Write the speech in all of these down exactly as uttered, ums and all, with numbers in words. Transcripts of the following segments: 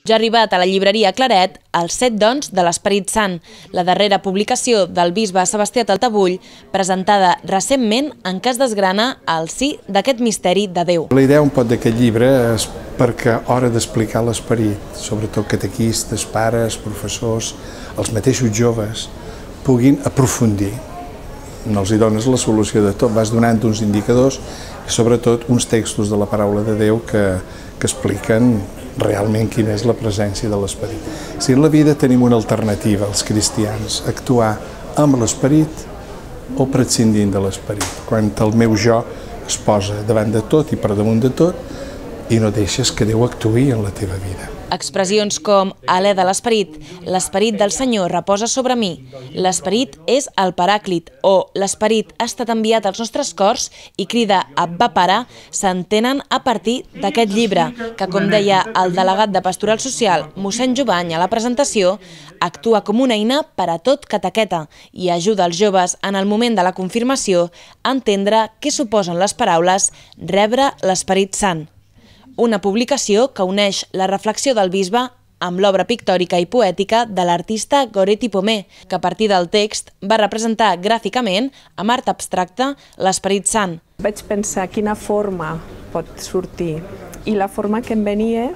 Ja ha arribat a la llibreria Claret Els set dons de l'Esperit Sant, la darrera publicació del bisbe Sebastià Taltabull, presentada recentment en què es desgrana el si d'aquest misteri de Déu. La idea un pot d'aquest llibre és perquè a l'hora d'explicar l'esperit, sobretot catequistes, pares, professors, els mateixos joves, puguin aprofundir. No els hi dones la solució de tot, vas donant uns indicadors i sobretot uns textos de la paraula de Déu que, que expliquen realment quina és la presència de l'esperit. Si en la vida tenim una alternativa, els cristians, actuar amb l'esperit o prescindint de l'esperit, quan el meu jo es posa davant de tot i per damunt de tot i no deixes que Déu actuï en la teva vida. Expressions com alè de l'esperit, l'esperit del Senyor reposa sobre mi, l'esperit és el paràclit o l'esperit ha estat enviat als nostres cors i crida Abba Pare s'entenen a partir d'aquest llibre que, com deia el delegat de Pastoral Social, mossèn Jovany, a la presentació, actua com una eina per a tot catequeta i ajuda els joves en el moment de la confirmació a entendre què suposen les paraules rebre l'Esperit Sant. Una publicació que uneix la reflexió del bisbe amb l'obra pictòrica i poètica de l'artista Goretti Pomé, que a partir del text va representar gràficament, amb art abstracte, l'Esperit Sant. Vaig pensar quina forma pot sortir i la forma que em venia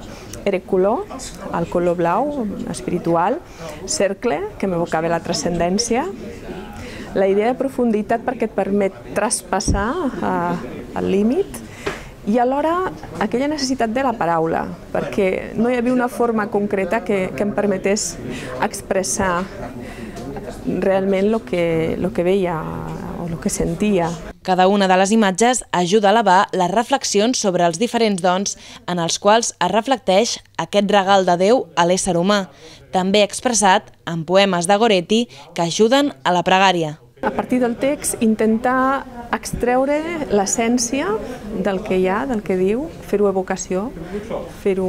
era color, el color blau, espiritual, cercle, que m'evocava la transcendència, la idea de profunditat perquè et permet traspassar el límit, i alhora aquella necessitat de la paraula, perquè no hi havia una forma concreta que, que em permetés expressar realment el que, el que veia o el que sentia. Cada una de les imatges ajuda a elevar les reflexions sobre els diferents dons en els quals es reflecteix aquest regal de Déu a l'ésser humà, també expressat en poemes de Goretti que ajuden a la pregària. A partir del text, intentar extreure l'essència del que hi ha, del que diu, fer-ho evocació, fer-ho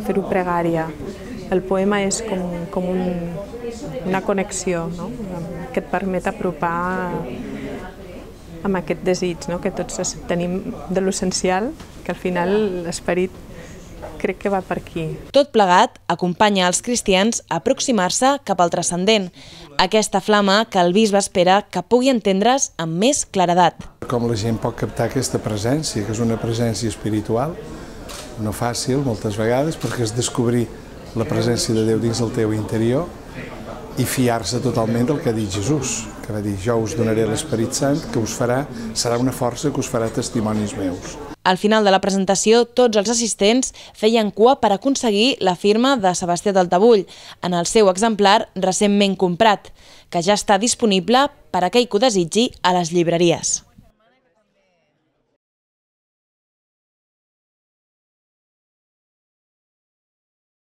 fer-ho pregària. El poema és com, com un, una connexió, no? Que et permet apropar amb aquest desig, no? Que tots tenim de l'essencial, que al final l'esperit crec que va per aquí. Tot plegat acompanya els cristians a aproximar-se cap al transcendent, aquesta flama que el bisbe espera que pugui entendre's amb més claredat. Com la gent pot captar aquesta presència, que és una presència espiritual, no fàcil moltes vegades, perquè és descobrir la presència de Déu dins el teu interior i fiar-se totalment del que ha dit Jesús, que va dir, jo us donaré l'Esperit Sant, que us farà, serà una força que us farà testimonis meus. Al final de la presentació, tots els assistents feien cua per aconseguir la firma de Sebastià Taltabull en el seu exemplar recentment comprat, que ja està disponible per a aquell que ho desitgi a les llibreries.